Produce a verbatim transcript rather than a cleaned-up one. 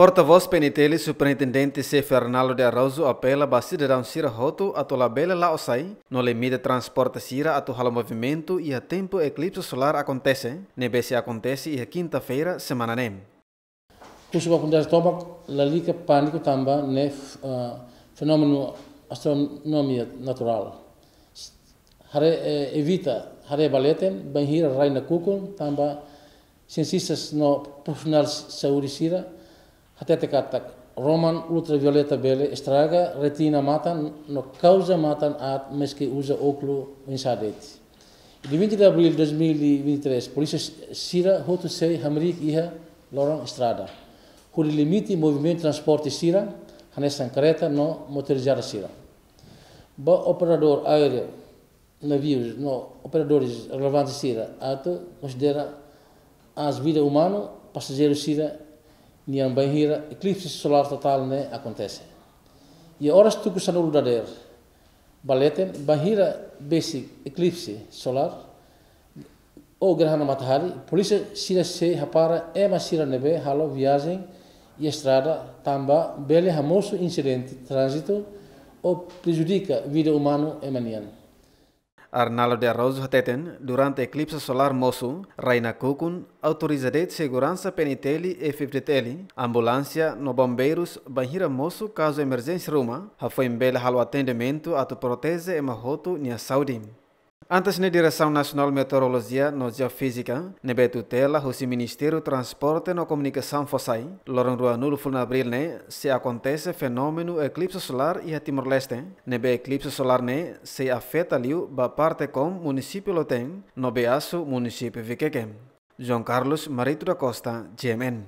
Portavós P N T L, Superintendente Xefe Arnaldo de Araújo apela ba sidadaun sira hotu atu labele la'o sai no limita transporte sira atu halo movimentu iha tempu eklipse solar akontese, ne'ebé sei akontese iha kinta-feira semana ne'e. Husu ba komunidade tomak lalika pániku tanba ne'e, ah, fenómenu astronomia naturál. Haree, eh, evita haree ba leten bainhira rai nakukun tanba sientistas no profisionál saúde sira hatete katak róman ultravioleta bele estraga retina matan no kauza matan aat maski uza ókulu oinsá de'it. Dia vinte de abril de dois mil e vinte e três, polísia sira hotu sei hamriik iha loron estrada hodi limita movimentu transporte sira, hanesan kareta no motorizada sira. Ba operadór aéreu, navius no operadores relevantes sira atu konsidera aas vida umanu pasajeiru sira-nian bainhira eklipse solar totál ne'e akontese. Iha oras tuku sanulu dadeer ba leten, bainhira besik eklipse solar ou gerhana matahari, polísia sira sei hapara ema sira ne'ebé halo viajen iha estrada tanba bele hamosu insidente tránzitu ou prejudika vida umanu ema nian. Arnaldo de Araújo hateten, durante eklipse solar mosu, rai nakukun, autoriza de'it seguransa P N T L, F F D T L, ambulánsia no bombeirus bainhira mosu kazu emerjénsia ruma, hafoin bele halo atendimentu atu proteje ema hotu nia saúde. Antes ne'e, Diresaun Nasionál Meteorolojia no Jeofízika, ne'ebé tutela husi Ministériu Transporte no Komunikasaun fó sai, loron ruanulu fulan Abril ne'e sei akontese fenómenu eklipse solar iha Timor-Leste, ne'ebé eklipse solar ne'e sei afeta liu ba parte Kom, munisípiu Loteng, no Beasu, munisípiu Vikeke. João Carlos Marito da Costa, G M N.